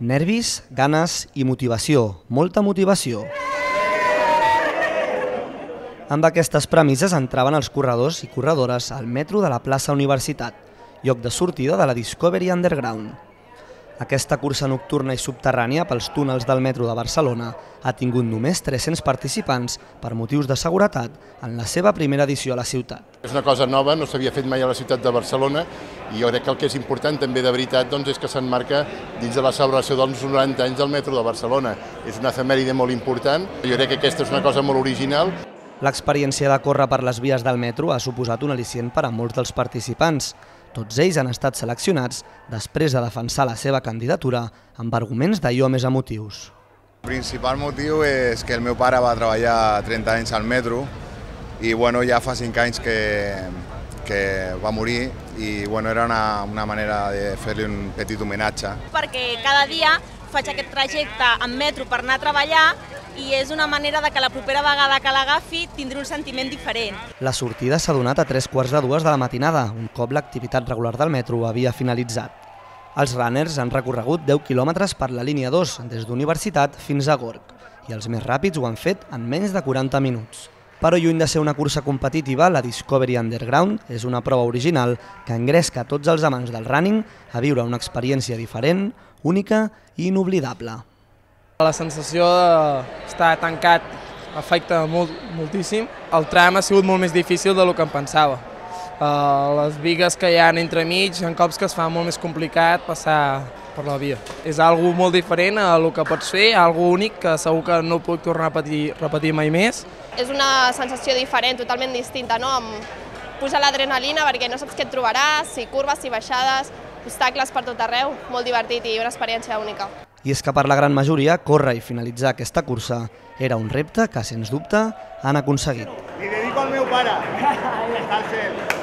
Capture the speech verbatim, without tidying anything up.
Nervis, ganes i motivació, molta motivació. Amb aquestes premisses entraven els corredors i corredores al metro de la plaça Universitat, lloc de sortida de la Discovery Underground. Aquesta cursa nocturna i subterrània pels túnels del metro de Barcelona ha tingut només tres-cents participants per motius de seguretat en la seva primera edició a la ciutat. És una cosa nova, no s'havia fet mai a la ciutat de Barcelona i jo crec que el que és important també de veritat doncs, és que s'emmarca dins de la celebració dels noranta anys del metro de Barcelona. És una efemèride molt important, jo crec que aquesta és una cosa molt original. L'experiència de córrer per les vies del metro ha suposat un al·licient per a molts dels participants. Tots ells han estat seleccionats després de defensar la seva candidatura amb arguments d'allò més emotius. El principal motiu és que el meu pare va treballar trenta anys al metro i bueno, ja fa cinc anys que, que va morir i bueno, era una, una manera de fer-li un petit homenatge. Perquè cada dia faig aquest trajecte en metro per anar a treballar i és una manera de que la propera vegada que l'agafi tindré un sentiment diferent. La sortida s'ha donat a tres quarts de dues de la matinada, un cop l'activitat regular del metro havia finalitzat. Els runners han recorregut deu quilòmetres per la línia dos, des d'Universitat fins a Gorg, i els més ràpids ho han fet en menys de quaranta minuts. Però lluny de ser una cursa competitiva, la Discovery Underground és una prova original que engresca tots els amants del running a viure una experiència diferent, única i inoblidable. La sensació d'estar tancat afecta molt, moltíssim. El tram ha sigut molt més difícil del que em pensava. Uh, les bigues que hi ha entremig, en cops que es fa molt més complicat passar per la via. És algo molt diferent a el que pots fer, algo únic que segur que no puc tornar a repetir, repetir mai més. És una sensació diferent, totalment distinta, no? Amb puja l'adrenalina perquè no saps què et trobaràs, si curves, si baixades, obstacles per tot arreu, molt divertit i una experiència única. I és que per la gran majoria, córrer i finalitzar aquesta cursa era un repte que, sens dubte, han aconseguit. Li dedico al meu pare. Està al cel.